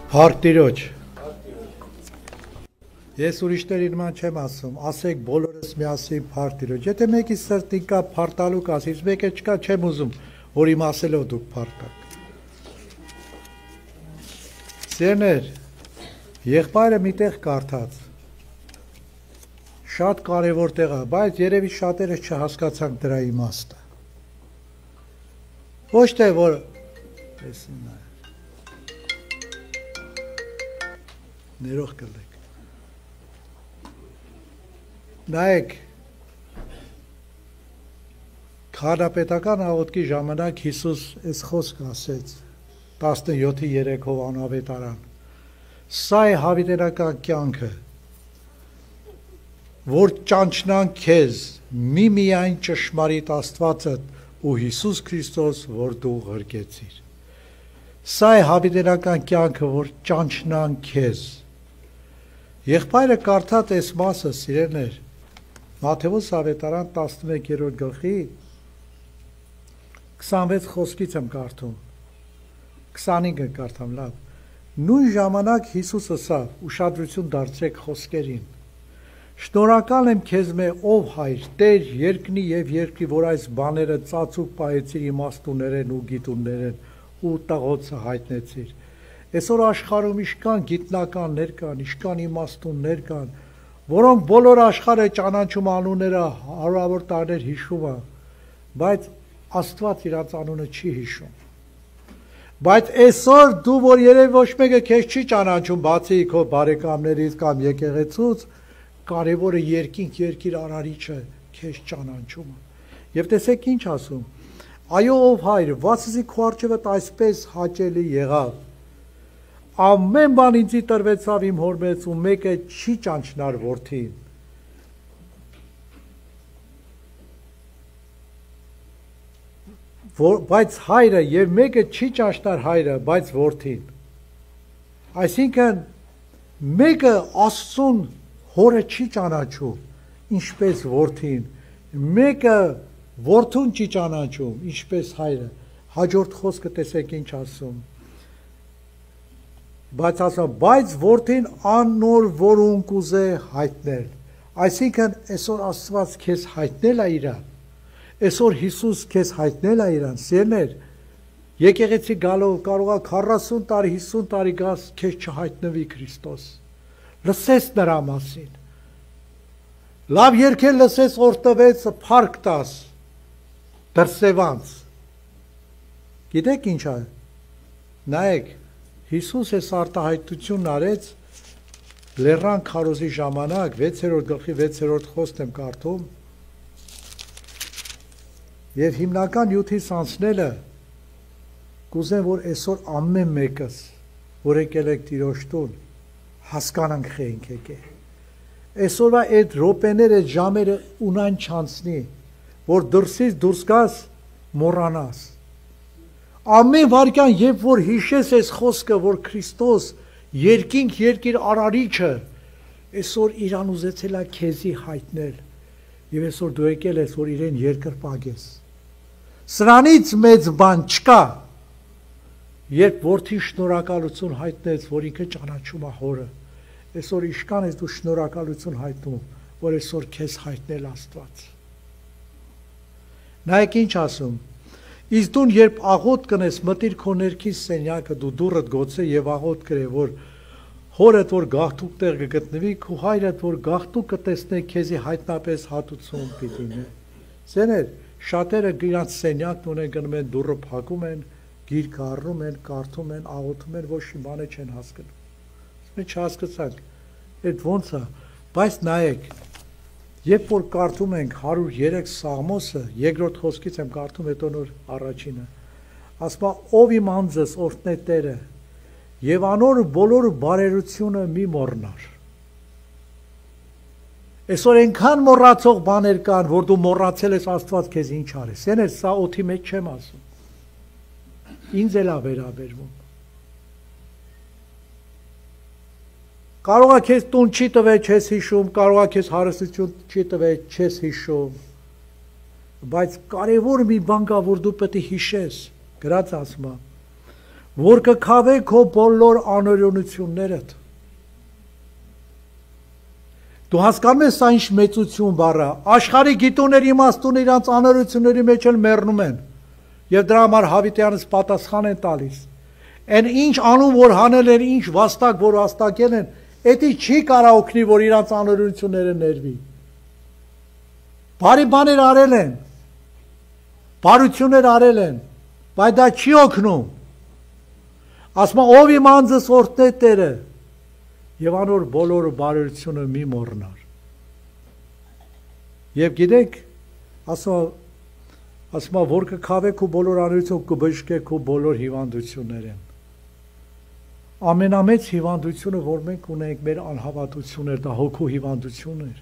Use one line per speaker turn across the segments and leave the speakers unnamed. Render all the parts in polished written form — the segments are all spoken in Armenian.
Փառք Տիրոջ։ Ես ուրիշների նման չեմ ասում, ասեք բոլորս միասին փառք Տիրոջ։ Եթե մեկի սրտին կա փառտալու կասից, մեկը չկա, չեմ ուզում, որ իմ ասելով դուք փառտաք։ Սիրներ, եղբայրը միտեղ կարդաց։ Շատ կարևոր տեղ է, բայց երևի շատերը չհասկացանք դրա իմաստը։ Ոչ թե որ ներող կլեք։ Նայեք, քահանապետական աղոթքի ժամանակ Հիսուս այս խոսքը ասեց 17:3 անավետարան։ Սա է հավիտենական կյանքը, որ ճանչնան քեզ միմիայն ճշմարիտ Աստվածդ ու Հիսուս Քրիստոս, որ դու ղրկեցիր։ Սա է հավիտենական կյանքը, որ ճանչնան քեզ։ Եղբայրը կարդաց այս մասը, սիրելիներ, Մատթեոս ավետարան 11-րդ գլխի 26 խոսքից եմ կարդում, 25-ը կարդամ, լավ։ Նույն ժամանակ Հիսուս ասավ, ուշադրություն դարձրեք խոսքերին. Շնորհակալ եմ քեզ ով Հայր, Տեր երկնի եւ երկրի, որ այս բաները ծածուկ պահեցիր իմաստուններեն ու գիտուններեն ու տղոցը հայտնեցիր։ Այսօր աշխարհում իշքան գիտնականներ կան, իշքան իմաստուններ կան, որոնք բոլոր աշխարհը ճանաչում անունները հարյուրավոր տարիներ հիշում է, բայց Աստված իրաց անունը չի հիշում։ Բայց այսօր դու, որ երևի ոչ մեկը քեզ չի ճանաչում, բացի քո բարեկամներից կամ եկեղեցուց, կարևորը երկինք երկիր արարիչը քեզ ճանաչում է։ Եվ տեսեք ինչ ասում. Այո, ով Հայր, վասզի քո առջևդ այսպես հաճելի եղավ։ Ամեն բան ինձի տրվեցավ իմ հոր մեծ ու մեկը չի ճանչնար որդին։ Բայց հայրը եւ մեկը չի ճանչնար հայրը, բայց որդին։ Այսինքն մեկը Աստծուն հորը չի ճանաչում, ինչպես որդին, մեկը որդուն չի ճանաչում, ինչպես հայրը։ Հաջորդ խոսքը տեսեք ինչ ասում։ Բայց ասում, բայց որդին աննոր որուն կուզե հայտնել։ Այսինքն այսօր Աստված քեզ հայտնել է իրան։ Այսօր Հիսուս քեզ հայտնել է իրան, սիրներ։ Եկեղեցի գալով կարող է 40 տարի, 50 տարի գաս քեզ չհայտնվի Քրիստոս։ Լսես նրա մասին։ Լավ երգել լսես օրտվեց փառք տաս դրսևանց։ Գիտեք ինչ է։ Նայեք, Հիսուս այս արտահայտությունն արեց Լեռան քարոզի ժամանակ 6-րդ գլխի 6-րդ խոսքն եմ կարդում եւ հիմնական յութից անցնելը կուզեմ որ այսօր ամեն մեկս որ եկել եք Տիրոջ տուն հասկանանք խենք եկել այսօրվա այդ րոպեները ժամերը ունայն չանցնի որ դրսից դուրս գաս մոռանաս Ամեն վարքյան, երբ որ հիշես այս խոսքը, որ Քրիստոս երկինք երկիր արարիչը, այսօր իրան ուզեցել է քեզի հայտնել, եւ այսօր դու եկել ես, որ իրեն երկրպագես։ Սրանից մեծ բան չկա, երբ որդին շնորհակալություն հայտնեց, որ ինքը ճանաչում է հորը, այսօր իշքան ես դու շնորհակալություն հայտնում, որ այսօր քեզ հայտնել Աստված։ Նայեք ինչ ասում Իսկ դու երբ աղոտ կնես մտիր քո ներքին սենյակը դու դուռդ գոցե եւ աղոտ կրե որ հորդ որ գաղթուկ տեղ կգտնվի քո հայրդ որ գաղթուկ կտեսնե քեզի հայտնապես հատուցում պիտի նե Սեներ շատերը իրանց սենյակն ունեն գնում են դուռը փակում են գիրք առնում են կարդում են աղոթում են ոչ մի բան չեն հասկանում Մենք չհասկացանք այդ ոնց է բայց նայեք Երբ որ կարդում ենք 103 Սաղմոսը, երկրորդ խոսքից եմ կարդում, հետո նոր առաջինը, ասում է ով իմ անձս օրհնե Տերը, եւ անոր բոլոր բարերությունը մի մոռնար։ Այսօր այնքան մոռացող բաներ կան, որ դու մոռացել ես Աստված քեզ ինչ արես։ Սեներ, սա օդի մեջ չեմ ասում։ Ինձ էլ է վերաբերվում։ Կարող է քեզ տուն չի տվել, չես հիշում, կարող է քեզ հարստություն չի տվել, չես հիշում, բայց կարևոր մի բան կա, որ դու պետք է հիշես, գրած ասում է, որ կքավե քո բոլոր անօրենություններդ։ Դու հասկանում ես սա ինչ մեծություն բառը, աշխարհի գիտուներ իմաստուն իրանց անօրենությունների մեջ էլ մեռնում են, եւ դրա համար Հավիտյանից պատասխան են տալիս։ Այն ինչ անում որ հանել են, ինչ վաստակ որ վաստակել են, էդի չի կարող օգնի, որ իրանց անօրենությունները ներվի։ Բարի բաներ արել են, բարություններ արել են, բայց դա չի օգնում։ Ասում ով իմ անձս օրհնե Տերը, եւ անոր բոլոր բարությունը մի մոռնար։ Եվ գիտեք, ասում որ կքավե քո բոլոր անօրենություն, կբժշկե քո բոլոր հիվանդությունները։ Ամենամեծ հիվանդությունը, որ մենք ունենք, մեր անհավատությունն էր, դա հոգու հիվանդությունն էր։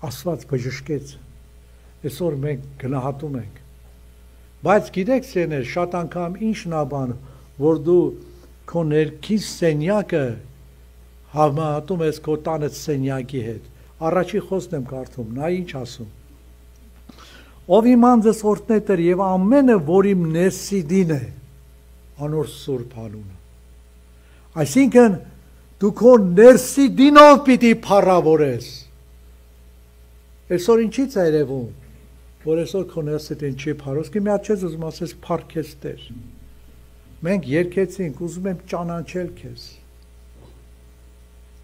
Աստված բժշկեց։ Այսօր մենք գնահատում ենք։ Բայց գիտեք, սերներ, շատ անգամ ինչն է բան, որ դու քո ներքին սենյակը համատում ես քո տանը սենյակի հետ։ Առաջի խոսքն եմ կարդում, նա ինչ ասում։ Ով իմ անձս օրհնե Տեր եւ ամենը, որ իմ ներսիդին է, անոր սուրբ անունը։ Այսինքն դու քո ներսիդինով պիտի փառավորես։ Այսօր ինչի՞ց է երևում, որ այսօր քո ներսիդին չի փառոս, մի հատ չես ուզում ասես փառքես Տեր։ Մենք երկեցինք, ուզում եմ ճանաչել քեզ։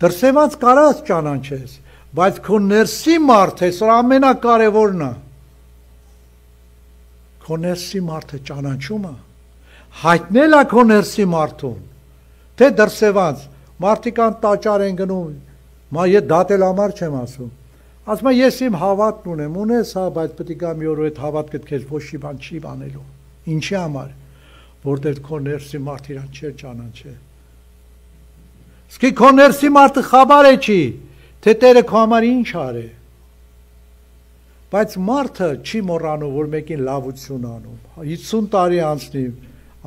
Դրսևած կարած ճանաչես, բայց քո ներսի մարդ այսօր ամենակարևորն է։ Քո ներսի մարդը ճանաչում է, հայտնել է քո ներսի մարդուն, թե դրսևած, մարդիկ ան տաճար են գնում, ես դատել համար չեմ ասում, ասում եմ ես իմ հավատն ունեմ, ունես հա, բայց պետք է մի օր այդ հավատքդ քեզ ոչ մի բան չի բանելու, ինչի համար, որտեղ քո ներսի մարդ իրան չէր ճանաչել։ Իսկ քո ներսի մարդը խաբար է չի, թե Տերը քո համար ինչ արե։ Բայց մարդը չի մոռանում, որ մեկին լավություն անում։ 50 տարի անցնի,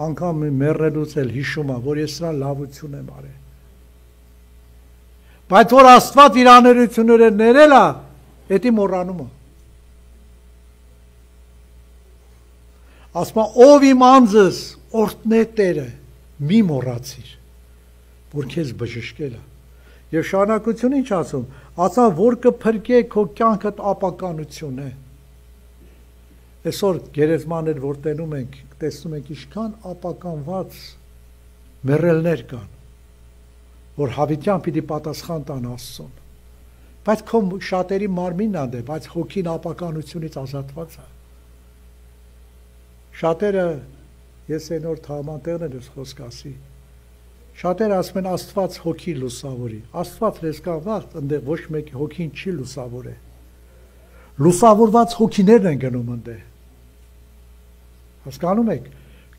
անգամ մեռնելուց էլ հիշում է, որ ես սրան լավություն եմ արել։ Բայց որ Աստված իր անօրենությունները ներել է, էդի մոռանում է։ Ասում է, ով իմ անձս օրհնե Տերը, մի մոռացիր, որ քեզ բժշկել է։ Եվ շարունակություն ինչ ասում, ասա որ կփրկե քո կյանքդ ապականություն է։ Այսօր գերեզմաններ որ տենում ենք, տեսնում ենք ինչքան ապականված մեռելներ կան, որ հավիտյան պիտի պատասխան տան Աստծուն։ Բայց քո շատերի մարմինն անդե, բայց հոգին ապականությունից ազատված է։ Շատերը, ես այն օր թամանտերն ես խոսք ասի, շատերը ասում են Աստված հոգի լուսավորի, Աստված ռեսկա վաղ, ընդեղ ոչ մեկ հոգին չի լուսավոր է։ Լուսավորված հոգիներն են գնում ընդեղ։ Հասկանում եք,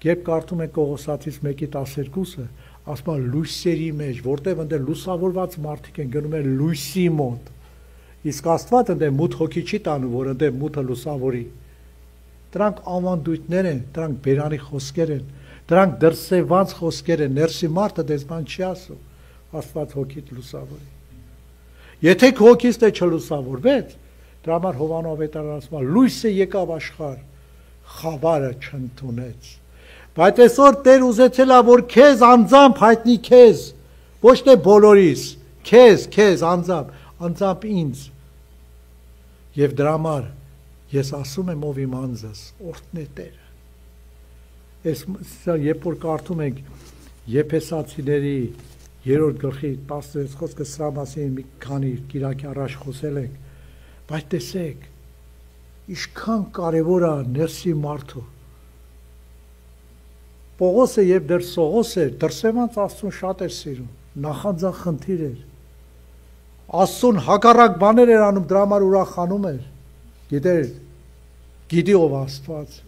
երբ կարդում եք Կողոսացից 1:12-ը, ասում է լույսերի մեջ, որտեղ ընդեղ լուսավորված մարդիկ են գնում են լույսի մոտ։ Իսկ Աստված ընդեղ մութ հոգի չի տանում, որ ընդեղ մութը լուսավորի։ Դրանք ավանդույթներ են, դրանք բերանի խոսքեր են, դրանք դրսևված խոսքեր են, ներսի մարդը դեսման չի ասում, Աստված հոգիդ լուսավորի։ Եթե քո հոգից թե չլուսավորվեց, դրա համար Հովանո ավետարանը ասում է լույսը եկավ աշխարհ, խավարը չընդունեց։ Բայց այսօր Տեր ուզեցել է, որ քեզ անձամբ հայտնի քեզ, ոչ թե բոլորիս, քեզ անձամբ ինձ։ Եվ դրա համար ես ասում եմ ով իմ անձս, օրհնե Տերը։ Այս երբ որ կարդում ենք Եփեսացիների 3-րդ գլխի 16 խոսքը սրա մասին մի քանի կիրակի առաջ խոսել ենք, բայց տեսեք, ինչքան կարևոր է ներսի մարդու։ Պողոսը երբ դեռ Սողոս էր, դրսևանց Աստծուն շատ էր սիրում, նախանձախնդիր էր։ Աստծուն հակառակ բաներ էր անում, դրա համար ուրախանում էր։ Գիտեր, գիտի ով Աստված,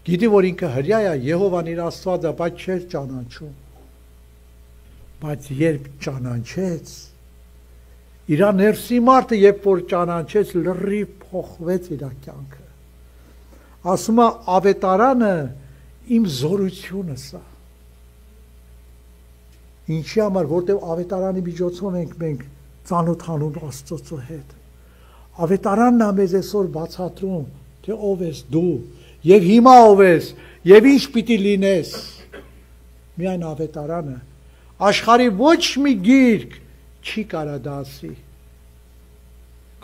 գիտի որ ինքը հրյա է, Եհովան իր Աստվածը, բայց չէր ճանաչում։ Բայց երբ ճանաչեց, իր ներսի մարդը երբ որ ճանաչեց, լրիվ փոխվեց իր կյանքը։ Ասում է ավետարանը իմ զորությունը սա։ Ինչի համար, որտեղ ավետարանի միջոցով ենք մենք ծանոթանում Աստծո հետ։ Ավետարանն է մեզ այսօր բացատրում, թե ով ես դու, եւ հիմա ով ես, եւ ինչ պիտի լինես։ միայն ավետարանը, աշխարհի ոչ մի գիրք չի կարա դա ասի։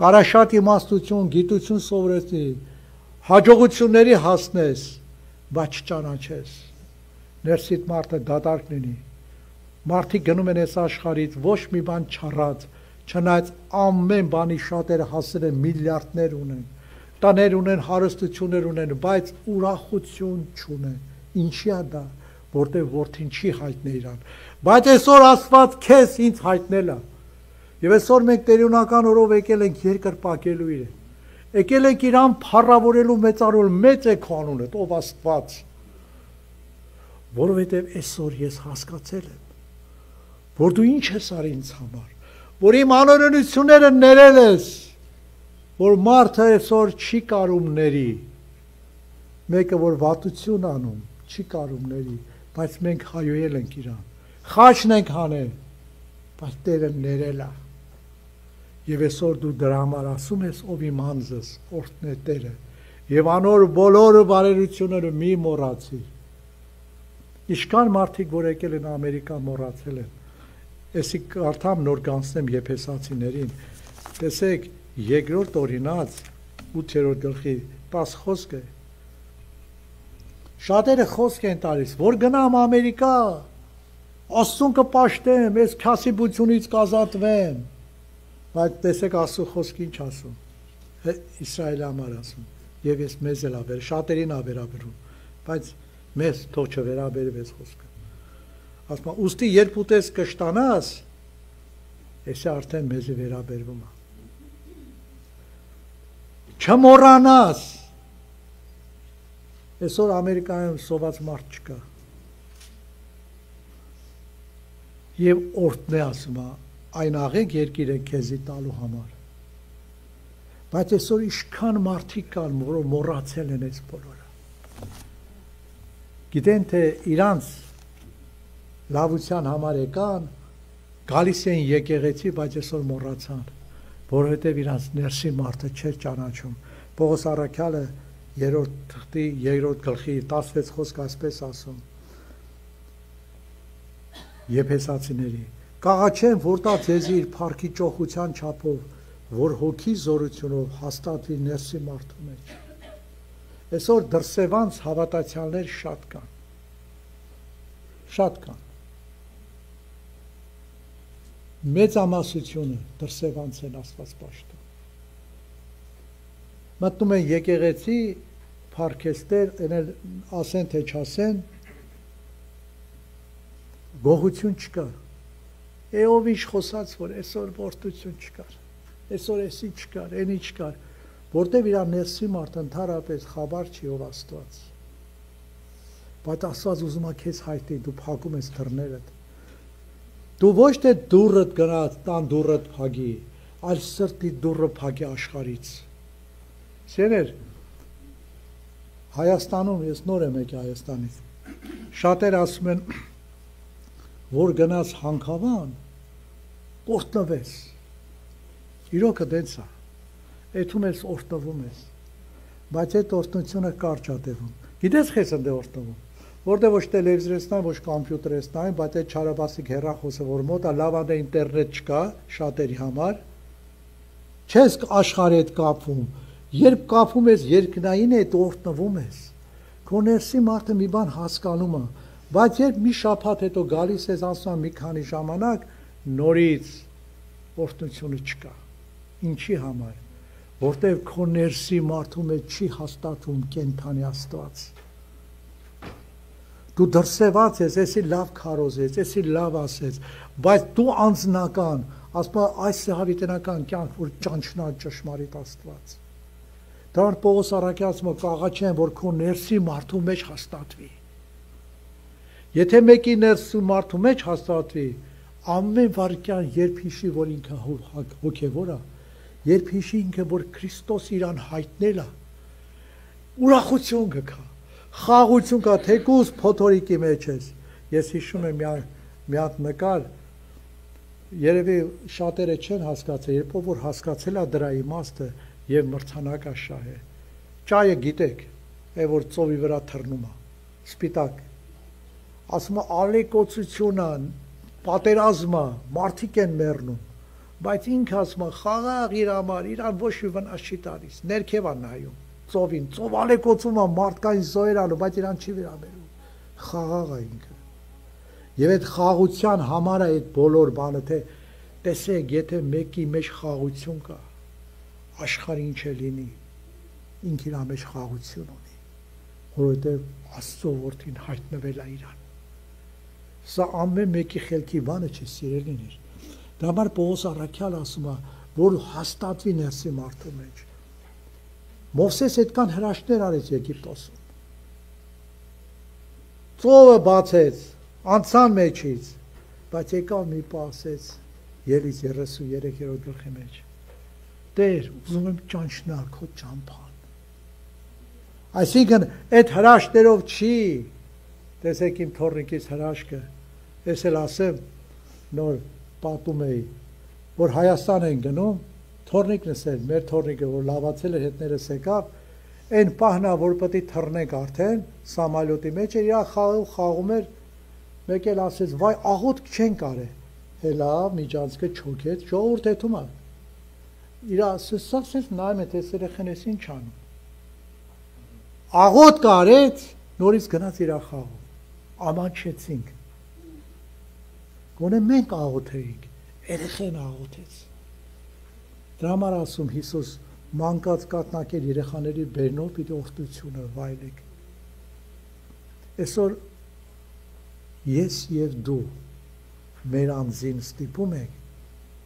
Կարա շատ իմաստություն, գիտություն սովորեցնի, հաջողությունների հասնես, բայց չճանաչես։ Ներսիդ մարդը դատարկ լինի։ Մարդիկ գնում են այս աշխարհից ոչ մի բան չառած, չնայած ամեն բանի շատերը հասել են միլիարդներ ունեն, տաներ ունեն, հարստություններ ունեն, բայց ուրախություն չունեն։ Ինչի՞ է դա, որտեղ որդին չի հայտնել իրան։ Բայց այսօր Աստված քեզ ինձ հայտնել է։ Եվ այսօր մենք տերունական օրով եկել ենք երկրպագելու իրեն։ Եկել ենք իրան փառավորելու մեծարել, մեծ է քո անունը, ով Աստված։ Որովհետև այսօր ես հասկացել եմ, որ դու ինչ ես արի ինձ համար, որ իմ անօրենությունները ներել ես, որ մարդը այսօր չի կարում ների, մեկը որ վատություն անում, չի կարում ների, բայց մենք հայոյել ենք իրան, խաչն ենք հանել, բայց Տերը ներել է, և այսօր դու դրա համար ասում ես, ով իմ անձս, օրհն է Տերը, և անոր բոլոր բարերությունները մի մոռացիր։ Ինչքան մարդիկ, որ եկել են Ամերիկա, մոռացել են։ Էսի կարդամ նոր կանցնեմ Եփեսացիներին, տեսեք, երկրորդ օրինաց 8-րդ գլխի 10 խոսք է։ Շատերը խոսք են տալիս, որ գնամ Ամերիկա, Աստծուն կպաշտեմ, այս քասիբությունից կազատվեմ, բայց տեսեք Աստծո խոսքը ինչ ասում, Իսրայելի համար ասում, եւ ես մեզ էլ ավեր, շատերին ավերաբերում, բայց մեզ թող չվերաբերվի այս խոսքը։ Ասում է, ուստի երբ ուտես կշտանաս, էսի արդեն մեզի վերաբերվում է։ Չմոռանաս։ Այսօր Ամերիկայում սոված մարդ չկա։ Եվ օրհն է ասում է, այն աղենք երկիրը քեզի տալու համար։ Բայց այսօր ինչքան մարդիկ կան, որ մոռացել են այս բոլորը։ Գիտեն, թե իրանց լավության համար եկան, գալիս էին եկեղեցի, բայց այսօր մոռացան, որովհետև իրանց ներսի մարդը չէր ճանաչում։ Պողոս առաքյալը 3-րդ թղթի 2-րդ գլխի 16 խոսք այսպես ասում. Եփեսացիների, կաղաչեմ, որ տա ձեզի իր փառքի ճոխության չափով, որ հոգի զորությունով հաստատվի ներսի մարդու մեջ։ Այսօր դրսևանց հավատացյալներ շատ կան։ Շատ կան։ Մեծամասնությունը դրսևանց են Աստված պաշտում։ Մտնում են եկեղեցի, փառքեստեր, էնել ասեն թե չասեն, գողություն չկար։ Ով ինչ խոսած, որ այսօր որդություն չկար, այսօր էսի չկար, էնի չկար, որտև իր ներսի մարդ ընդհանրապես խաբար չի ով Աստված։ Բայց Աստված ուզում է քեզ հայտնի, դու փակում ես դռներդ։ Դու ոչ թե դուռդ գնաց, տան դուռդ փակի, այլ սրտի դուռը փակի աշխարհից։ Սերեր, Հայաստանում, ես նոր եմ եկել Հայաստանից, շատեր ասում են, որ գնաց Հանքավան, օրհնվես։ Իրոքը դենց է, էթում ես օրհնվում ես, բայց այդ օրհնությունը կարճ է տևում։ Գիտես քեզ ընդ է օրհնվում, որտեղ ոչ տելևիզորեսնային, ոչ կոմպյուտերեսնային, բայց այդ չարաբասիկ հեռախոսը, որ մոտ է, լավ է ինտերնետ չկա շատերի համար, չես աշխարհի հետ կապվում, երբ կապվում ես երկնային հետ օրհնվում ես, քո ներսի մարդը մի բան հասկանում է, բայց երբ մի շաբաթ հետո գալիս ես ասում մի քանի ժամանակ, նորից օրհնությունը չկա։ Ինչի համար, որտեղ քո ներսի մարդու մեջ չի հաստատվում կենթանի Աստված։ Դու դրսևած ես, էսի լավ քարոզես, էսի լավ ասես, բայց դու անձնական, ասում այս հավիտենական կյանք, որ ճանչնա ճշմարիտ Աստված։ Դրան Պողոս առաքյալը կաղաչեն, որ քո ներսի մարդու մեջ հաստատվի։ Եթե մեկի ներսի մարդու մեջ հաստատվի, ամեն վարքյան երբ հիշի, որ ինքը հոգևոր է, երբ հիշի ինքը, որ Քրիստոս իրան հայտնել է, ուրախություն կգա, խաղություն կա, թեկուզ փոթորիկի մեջ ես։ Ես հիշում եմ մի հատ նկար, երևի շատերը չեն հասկացել, երբ որ հասկացել է դրա իմաստը եւ մրցանակա շահ է։ Ճայը գիտեք, որ ծովի վրա թռնում է, սպիտակ, ասում է ալեկոծությունը, պատերազմը, մարդիկ են մեռնում, բայց ինքը ասում է խաղաղ իր համար, իրան ոչ մի վնաս չի տալիս, ներքև է նայում, ծովին, ծով ալեկոծում է մարդկային զոհեր անում, բայց իրան չի վերաբերում, խաղաղ է ինքը։ Եվ այդ խաղության համար է այդ բոլոր բանը, թե տեսեք, եթե մեկի մեջ խաղություն կա, աշխարհը ինչ է լինի, ինքը իր մեջ խաղություն ունի, որովհետև Աստծո որդին հայտնվել է իրան։ Սա ամեն մեկի խելքի բանը չի, սիրելիներ։ Դրա համար Պողոս առաքյալը ասում է, որ հաստատվի ներսի մարդու մեջ։ Մովսես այդքան հրաշքներ արեց Եգիպտոսում։ Ծովը բացեց, անցան մեջից, բայց եկավ մի պահ ասեց Ելից 33-րդ գլխի մեջ. Տեր, ուզում եմ ճանչնալ քո ճամփան։ Այսինքն այդ հրաշքներով չի, տեսեք իմ թոռնիկից հրաշքը, ես էլ ասեմ, նոր պատում էի, որ Հայաստան են գնում, թոռնիկն էս էր, մեր թոռնիկը, որ լավացել էր հետներս եկավ, այն պահնա, որ պետք է թռնենք արդեն, սամալյոտի մեջ էր, իրա խաղում էր, մեկ էլ ասեց, վայ, աղոթք չեն կարել, հելա, միջանցքը չոքեց, ժողովուրդ հետում է, իրա ասես նայում է, տես երեխեն ես ինչ անում, աղոթք արեց, նորից գնաց իրա խաղում, ամանչեցինք, գոնե մենք աղոթեինք, երեխեն աղոթեց, դրա համար ասում Հիսուս մանկած կատնակել երեխաների բերնով պիտի օրհնությունը վայելեք, այսօր ես և դու մեր անձին ստիպում ենք,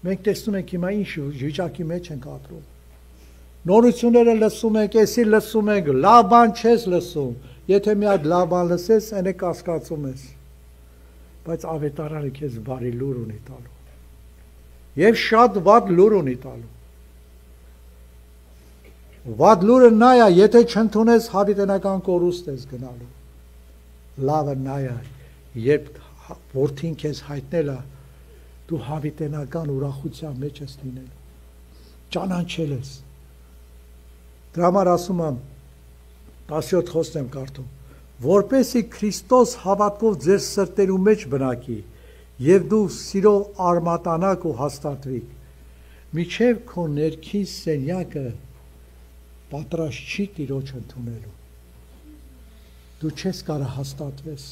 մենք տեսնում ենք հիմա ինչ վիճակի մեջ ենք ապրում, նորությունները լսում ենք, էսի լսում ենք, լավ բան չես լսում, եթե մի հատ լավ բան լսես, այն է կասկածում ես, բայց ավետարանը քեզ բարի լուր ունի տալու, և շատ վատ լուր ունի տալու, վատ լուրը նա է, եթե չընդունես հավիտենական կորուստ ես գնալու, լավը նա է, երբ որդին քեզ հայտնել է, դու հավիտենական ուրախության մեջ ես լինելու, ճանաչել ես, դրա համար ասում եմ, 17 խոստ եմ կարդում, որպեսզի Քրիստոս հավատքով ձեր սրտերու մեջ բնակի, և դու սիրով արմատանաք ու հաստատվիք, միջև քո ներքին սենյակը պատրաստ չի Տիրոջ ընդունելու, դու չես կարող հաստատվես,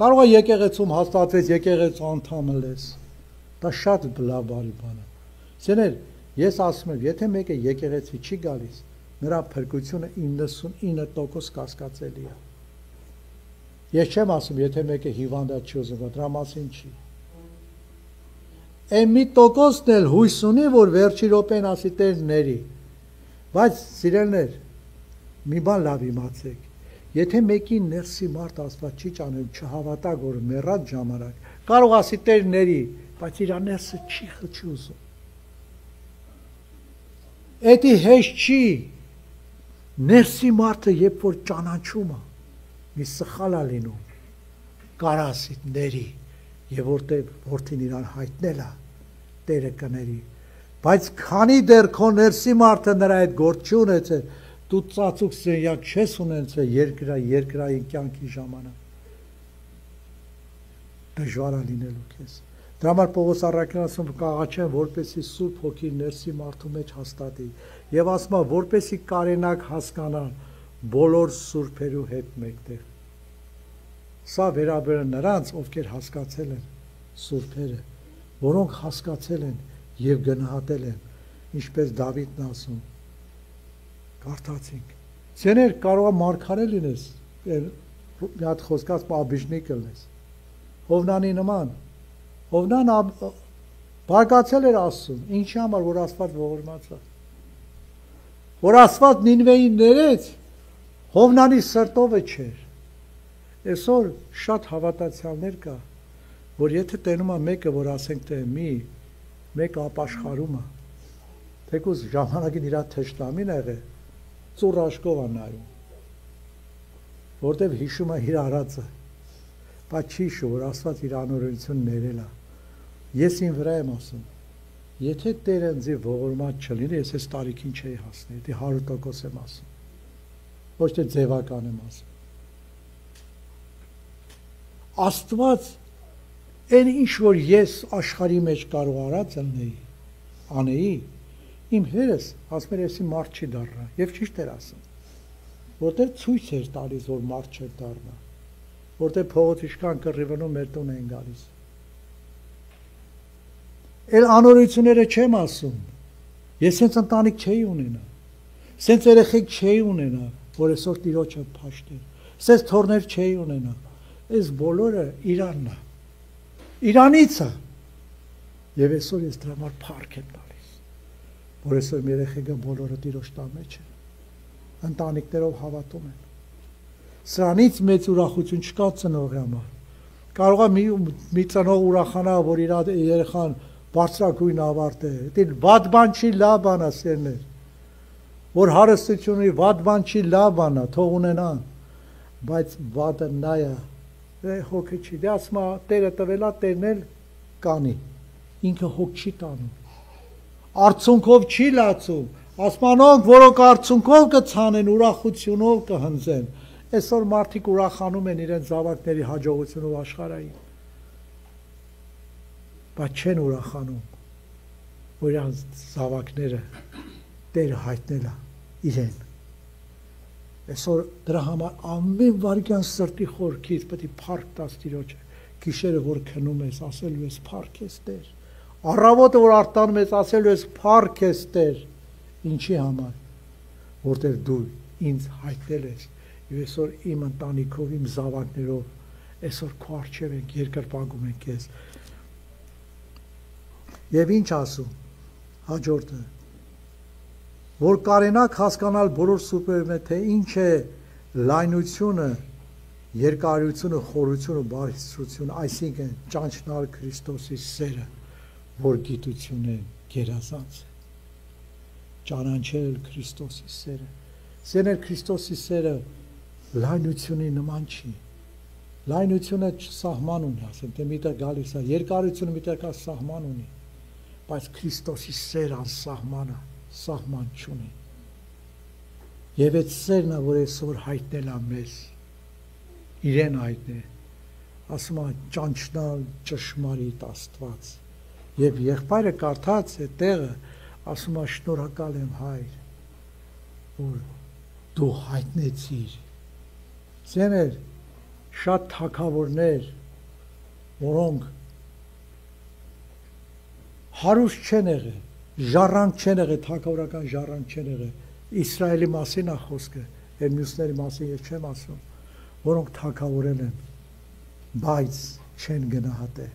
կարող է եկեղեցում հաստատվես, եկեղեցու անդամը լես, դա շատ լավ բարի բան է, սեներ, ես ասում եմ, եթե մեկը եկեղեցի չի գալիս, նրա փրկությունը 99% կասկածելի է, ես չեմ ասում, եթե մեկը հիվանդա չի ուզում, դրա մասին չի, այն մի տոկոսն էլ հույս ունի, որ վերջի րոպեն ասի Տեր ների, բայց սիրելներ, մի բան լավ իմացեք, եթե մեկին ներսի մարդ Աստված չի ճանել, չհավատա, որ մեռած ժամանակ, կարող ասի Տեր ների, բայց իր ներսը չի ուզում, էդի հեշտ չի, ներսի մարդը երբ որ ճանաչում է, մի սխալ է լինում, կարա ասի ների, և որտեղ որդին իրան հայտնել է, Տերը կների, բայց քանի դեռ քո ներսի մարդը նրա այդ գործ չի ունեցել, դու ծածուկ սենյակ չես ունեցել երկրային կյանքի ժամանակ, դժվար է լինելու քեզ, դրա համար Պողոս առաքյալն ասում կաղաչեմ, որպեսզի Սուրբ Հոգի ներսի մարդու մեջ հաստատի, և ասում է, որպեսզի կարենաք հասկանալ բոլոր սուրբերու հետ մեկտեղ, սա վերաբերում նրանց, ովքեր հասկացել են սուրբերը, որոնք հասկացել են և գնահատել են, ինչպես Դավիթն ասում, կարդացինք, սեներ կարող է մարգարե լինես, մի հատ խոսքած աբիժնիկ լնես, Հովնանի նման, Հովնան բարգացել էր Աստծուն, ինչի համար, որ Աստված ողորմած է, որ Աստված Նինվեին ներեց, Հովնանի սրտովը չէր, այսօր շատ հավատացյալներ կա, որ եթե տենում է մեկը, որ ասենք թե մեկը ապաշխարում է, թեկուզ ժամանակին իրա թշնամին եղել, ծուռ աշկով է նայում, որտև հիշում է իր արածը, բայց չի հիշում, որ Աստված իր անօրենություն ներել է, ես իմ վրա եմ ասում, եթե Տերը ինձ ողորմած չլինի, ես այս տարիքին չէի հասնի, դե 100% եմ ասում, ոչ թե ձևական եմ ասում, Աստված այն ինչ որ ես աշխարհի մեջ կարող արած անեի, իմ հերս ասում էր էսի մարդ չի դառնա, եւ ճիշտ էր ասում, որտեղ ցույց էր տալիս, որ մարդ չէ դառնա, որտեղ փողոց իշքան կռիվնում մեր տուն են գալիս։ Էլ անօրությունները չեմ ասում, ես հենց ընտանիք չէի ունենա, սենց երեխեք չէի ունենա, որ այսօր Տիրոջը փաշտեր, սենց թորներ չէի ունենա, այս բոլորը Իրանն է, Իրանից է, եւ այսօր ես դրա համար փառք եմ տալիս, որ այսօր երեխեքը բոլորը Տիրոջ տան մեջ են, ընտանիքներով հավատում են, սրանից մեծ ուրախություն չկա ծնողի համար, կարող է մի ծնող ուրախանա, որ իր երեխան բարձրագույն ավարտ է, դին վատ բան չի, լավ բան է սերներ, որ հարստությունը վատ բան չի, լավ բան է, թող ունենան, բայց վատը նա է, հոգը չի, դե ասма Տերը տվելա, Տերն էլ կանի, ինքը հոգ չի տանում, արդյունքով չի լացում, ասմանոնք, որոնք արդյունքով կցանեն, ուրախությունով կհնձեն, այսօր մարդիկ ուրախանում են իրենց զավակների հաջողությունով աշխարհային, բայց չեն ուրախանում, որ իրենց զավակները Տերը հայտնելա իրեն։ Այսօր դրա համար ամեն վարքյան սրտի խորքից պետք է փառք տաս Տիրոջը, գիշերը որ քնում ես, ասելու ես փառք ես Տեր, առավոտը որ արտանում ես, ասելու ես փառք ես Տեր, ինչի համար, որտեղ դու ինձ հայտնել ես, եւ այսօր իմ ընտանիքով, իմ զավակներով այսօր քո առջև ենք, երկրպագում ենք քեզ։ Եվ ինչ ասում, հաջորդը, որ կարենաք հասկանալ բոլոր սուպերմե, թե ինչ է լայնությունը, երկարությունը, խորությունը, բարձրությունը, այսինքն ճանչնալ Քրիստոսի սերը, որ գիտություն է գերազանց է, ճանաչել Քրիստոսի սերը, սենել Քրիստոսի սերը լայնությունի նման չի, լայնությունը սահման ունի, ասեմ, թե միտեղ գալիս է, երկարությունը միտեղ կա սահման ունի, բայց Քրիստոսի սեր անսահմանը, սահման չունի, և այդ սերն է, որ այսօր հայտնել է մեզ, իրեն հայտնել, ասում է ճանչնալ ճշմարիտ Աստված, և եղբայրը կարդաց այդ տեղը, ասում է շնորհակալ եմ Հայր, որ դու հայտնեցիր, ձեներ շատ թագավորներ, որոնք հարուստ չեն եղել, ժառանգ չեն եղել, թագավորական ժառանգ չեն եղել, Իսրայելի մասին է խոսքը, և մյուսների մասին ես չեմ ասում, որոնք թագավորել են, բայց չեն գնահատել,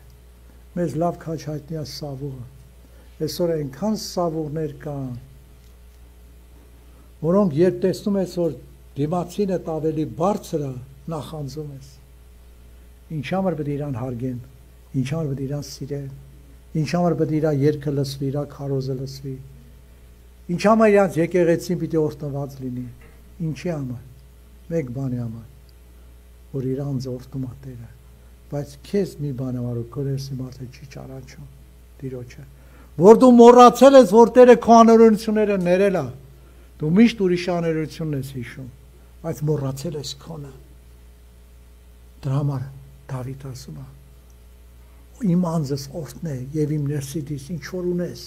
մեզ լավ քաչ հայտնի է Սավուղը, այսօր այնքան Սավուղներ կան, որոնք երբ տեսնում ես, որ դիմացինը ավելի բարձր է, նախանձում ես, ինչ համար պետք է իրան հարգեն, ինչ համար պետք է իրան սիրեն, ինչ համար պետք է իր երգը լսվի, իր քարոզը լսվի, ինչ համար իրանց եկեղեցին պիտի օրհնված լինի, ինչի համար, մեկ բանի համար, որ իրանց օրհնում է Տերը, բայց քեզ մի բան համար ու քո ներսի մարդը չի ճանաչում Տիրոջը, որ դու մոռացել ես, որ Տերը քո անօրենությունները ներել է, դու միշտ ուրիշ անօրենությունն ես հիշում, բայց մոռացել ես քոնը, դրա համար Դավիթ ասում է, իմ անձս օրհնե եւ իմ ներսիդից ինչ որ ունես,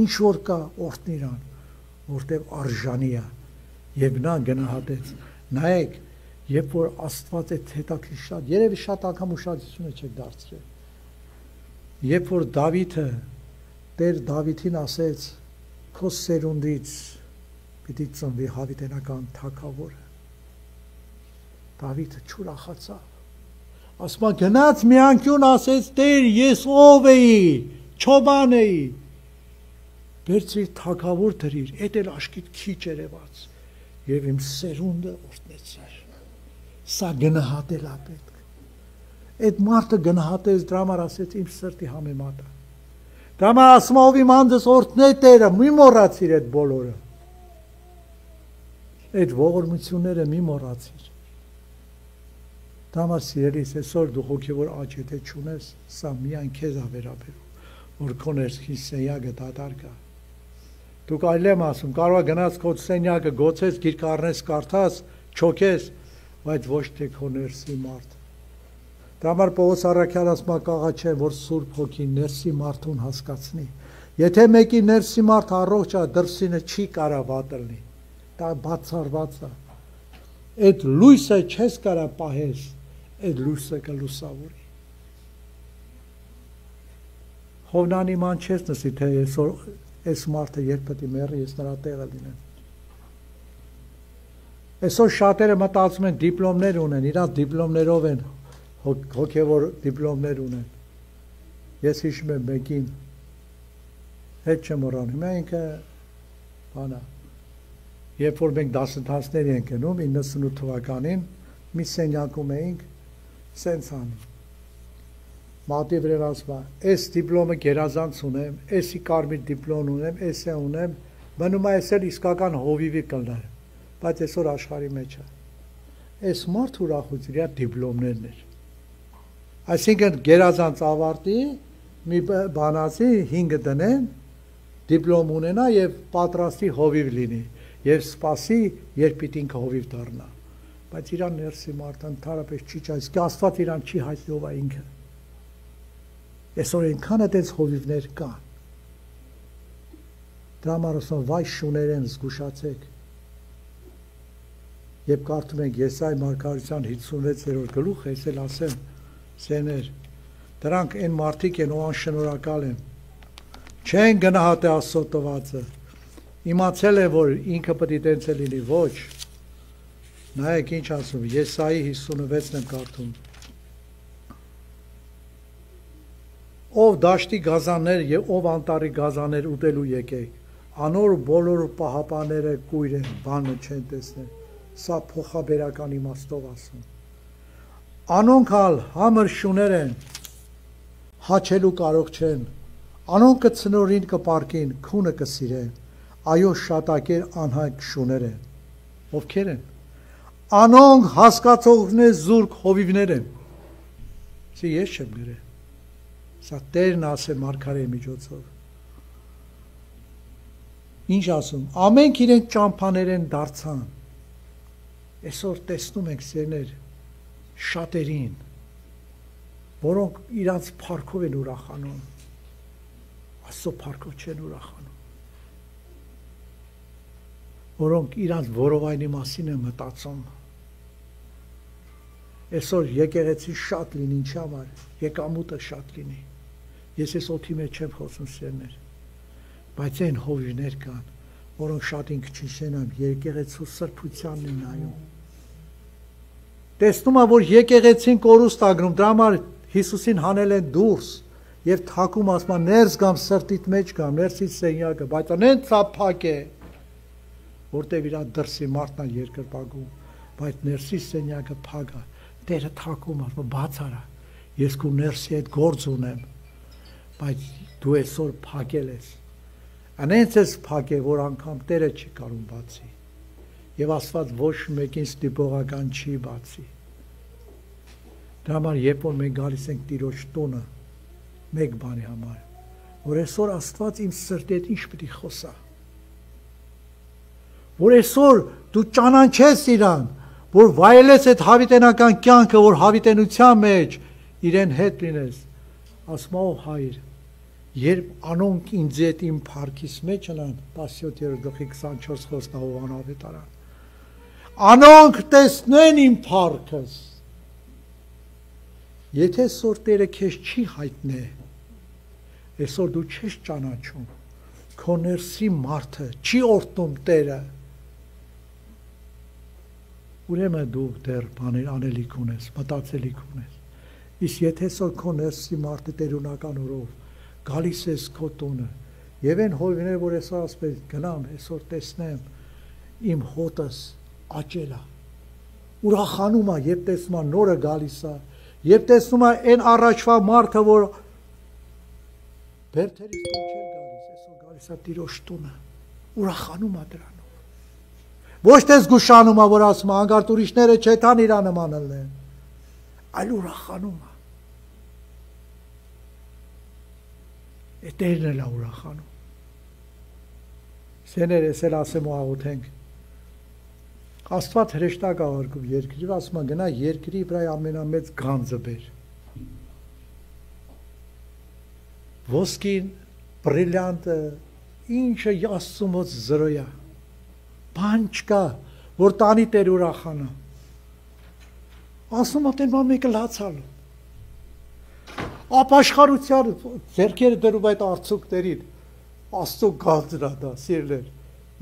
ինչ որ կա օրհնիր ան, որտեղ արժանի է եւ նա գնահատեց։ Նայեք, երբ որ Աստված այդ հետաքրքիր շատ, երևի շատ անգամ ուշադրություն եք դարձրել։ Երբ որ Դավիթը Տեր Դավիթին ասեց, քո սերունդից պիտի ծնվի հավիտենական թագավորը, Դավիթը չուրախացավ։ Ասма գնաց մի անկյուն ասեց, Տեր, ես ով էի, չոբան էի, բերցրիր թագավոր դրիր, էդ էլ աշկիտ քիչ երևաց, և իմ սերունդը օրհնեցիր, սա գնահատել է պետք, այդ մարդը գնահատեց, դրա համար ասեց իմ սրտի համեմատը, դրա համար ասում ով իմ անձս օրհնե Տերը, մի մոռացիր այդ բոլորը, այդ ողորմությունները մի մոռացիր, դա համար սիրելիս, այսօր դու հոգևոր աճ եթե չունես, սա միայն քեզ է վերաբերում, որ քո ներսի սենյակը դատարկ է։ Դուք այլ եմ ասում, կարող է գնաց քո սենյակը գոցես, գիրք առնես, կարդաս, չոքես, բայց ոչ թե քո ներսի մարդ։ Դրա համար Պողոս առաքյալը ասում է կաղա չէ, որ Սուրբ Հոգին ներսի մարդուն հասկացնի։ Եթե մեկի ներսի մարդ առողջ է, դրսինը չի կարա վատ լինի։ Դա բացառված է։ Այդ լույսը չես կարա պահես, այդ լույսը կլուսավորի։ Հովնանի ման չես նսի, թե այս մարդը երբ պետք է մեռի, ես նրա տեղը լինեմ։ Այսօր շատերը մտածում են դիպլոմներ ունեն, իրանց դիպլոմներով են, հոգևոր դիպլոմներ ունեն։ Ես հիշում եմ մեկին, հետ չեմ մոռանում, ինքը բանա։ Երբ որ մենք դասընթացներ ենք գնում 98 թվականին, մի սենյակում էինք, սենց անում։ Մատի վրա ասում է, այս դիպլոմը գերազանց ունեմ, էսի կարմիր դիպլոմ ունեմ, էսը ունեմ, մնում է էս էլ իսկական հովիվի կլներ, բայց այսօր աշխարհի մեջ է։ Այս մարդ ուրախություն իր դիպլոմներն էր։ Այսինքն գերազանց ավարտի, մի բանացի 5 դնեն, դիպլոմ ունենա եւ պատրաստի հովիվ լինի եւ սպասի, երբ պիտի ինքը հովիվ դառնա։ Բայց իրան ներսի մարդը ընդհանրապես չի ճայս, Աստված իրան չի հայտնի ով է ինքը։ Այսօր այնքան այդպես հովիվներ կան։ Դրա համար ասում վայ շուներեն զգուշացեք։ Երբ կարդում ենք Եսայի մարգարեության 56-րդ գլուխը, ես էլ ասեմ, սեներ, դրանք այն մարդիկ են, ով անշնորհակալ են։ Չեն գնահատի Աստծո տվածը։ Իմացել է, որ ինքը պետք է տենց լինի, ոչ։ Նայեք ինչ ասում, Եսայի 56-ն եմ կարդում։ Ով դաշտի գազաններ եւ ով անտառի գազաններ ուտելու եկեք, անոր բոլոր պահապանները կույր են, բանը չեն տեսնել։ Սա փոխաբերական իմաստով ասում։ Անոնք ալ համր շուներ են, հաչելու կարող չեն, անոնք կցնորին կպարկին, քունը կսիրեն, այո շատակեր անհայտ շուներ են, ովքեր են, անոնք հասկացողներ զուրկ հովիվներ են, սի ես չեմ գրել, սա Տերն ասե մարգարեի միջոցով, ինչ ասում, ամենք իրենք ճամփաներ են դարձան, այսօր տեսնում ենք սերներ, շատերին, որոնք իրանց փառքով են ուրախանում, Աստծո փառքով չեն ուրախանում, որոնք իրանց որովայնի մասին են մտածում, այսօր եկեղեցի շատ լինի, ինչ համար, եկամուտը շատ լինի, ես ես օդի մեջ չեմ խոսում սերներ, բայց այն հովիվներ կան, որոնք շատ ինք չիշենան, եկեղեցու սրբությանն են նայում, տեսնում է, որ եկեղեցին կորուստ ագրում, դրա համար Հիսուսին հանել են դուրս եւ թակում ասում ներս գամ սրտիդ մեջ գամ, ներսից սենյակը, բայց անեն ծափակ է, որտեւ իր դրսի մարդն է երկրպագում, բայց ներսից սենյակը փակ է, Տերը թակում ասում բաց արա, ես քո ներսի հետ գործ ունեմ, բայց դու այսօր փակել ես, անենց ես փակ է, որ անգամ Տերը չի կարող բացի, եւ Աստված ոչ մեկին ստիպողական չի բացի, դրա համար երբ որ մենք գալիս ենք Տիրոջ տունը, մեկ բանի համար, որ այսօր Աստված իմ սրտի հետ ինչ պետք է խոսա, որ այսօր դու ճանաչես իրան, որ վայելես այդ հավիտենական կյանքը, որ հավիտենության մեջ իրեն հետ լինես, ասում ով հայր, երբ անոնք ինձ հետ իմ փառքիս մեջ ընան, 17:24 խոսքով անավետարան, անոնք տեսնեն իմ փառքս, եթե այսօր Տերը քեզ չի հայտնե, այսօր դու չես ճանաչում, քո ներսի մարդը չի օրհնում Տերը, ուրեմն դու դեռ բաներ անելիք ունես, մտածելիք ունես, իսկ եթե այսօր քո ներսի մարդը տերունական օրով գալիս ես քո տունը, եւ այն հովիվները, որ այսօր ասում ես գնամ, այսօր տեսնեմ, իմ հոտս աճել է, ուրախանում է, երբ տեսնում է նորը գալիս է, Եվ տեսնում է այն առաջվա մարդը, որ բերթերից չէր գալիս, այսօր գալիս է Տիրոջ տունը, ուրախանում է դրանով։ Ոչ թե զգուշանում է, որ ասում է, հանգարտ ուրիշները չեթան իրա նման ելնեն, այլ ուրախանում է։ Է Տերն էլ է ուրախանում։ Սեներ ես էլ ասեմ ու աղոթենք։ Աստված հրեշտակ աղարկում երկրի, ասում է գնա երկրի վրա ամենամեծ գանձը բեր, ոսկին, բրիլյանտը, ինչը Աստծո մոտ զրոյա, բան չկա, որ տանի Տեր ուրախանա։ Աստծո մոտ են մեկը լացալու։ Ապաշխարության ձեռքերը դրում այդ արցունքներին, Աստծո գանձն է դա, սիրելիներ,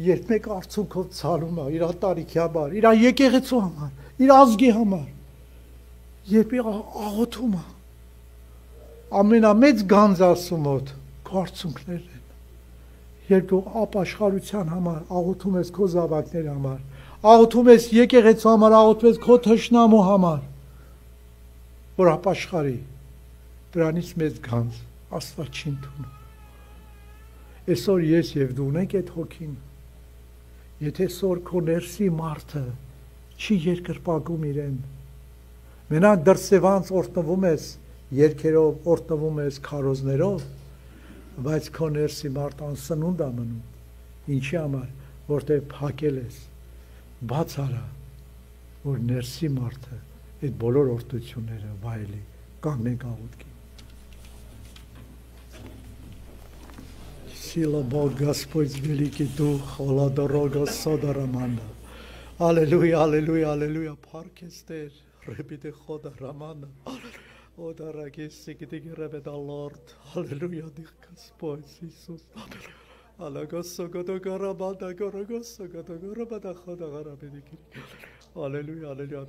երբ մեկ արցունքով ցալում է իր տարիքի համար, իր եկեղեցու համար, իր ազգի համար, երբ աղոթում է, ամենամեծ գանձ Աստծո մոտ քո արցունքներն են։ Երբ դու ապաշխարության համար աղոթում ես քո զավակների համար, աղոթում ես եկեղեցու համար, աղոթում ես քո թշնամու համար, որ ապաշխարի, դրանից մեծ գանձ Աստված չի ընդունում։ Այսօր ես եւ դու ունենք այդ հոգին։ Եթե այսօր քո ներսի մարդը չի երկրպագում իրեն, մենակ դրսևանց օրտնվում ես երկերով, օրտնվում ես քարոզներով, բայց քո ներսի մարդ անսնունդ է մնում։ Ինչի համար, որտեղ փակել ես, բաց արա, որ ներսի մարդը այդ բոլոր օրդությունները վայելի, կանգնենք աղոթքի։ Сила Бог Господь великий Дух, Ола дорога содараманда. Аллилуйя, аллилуйя, аллилуйя, паркестер, ребите хода рамана. О, дорогие сигдиги ребета Лорд, аллилуйя, Дих Господь Иисус. Аллилуйя, года гарабада, горогоса, года гарабада хода гарабедики. Аллилуйя, аллилуйя,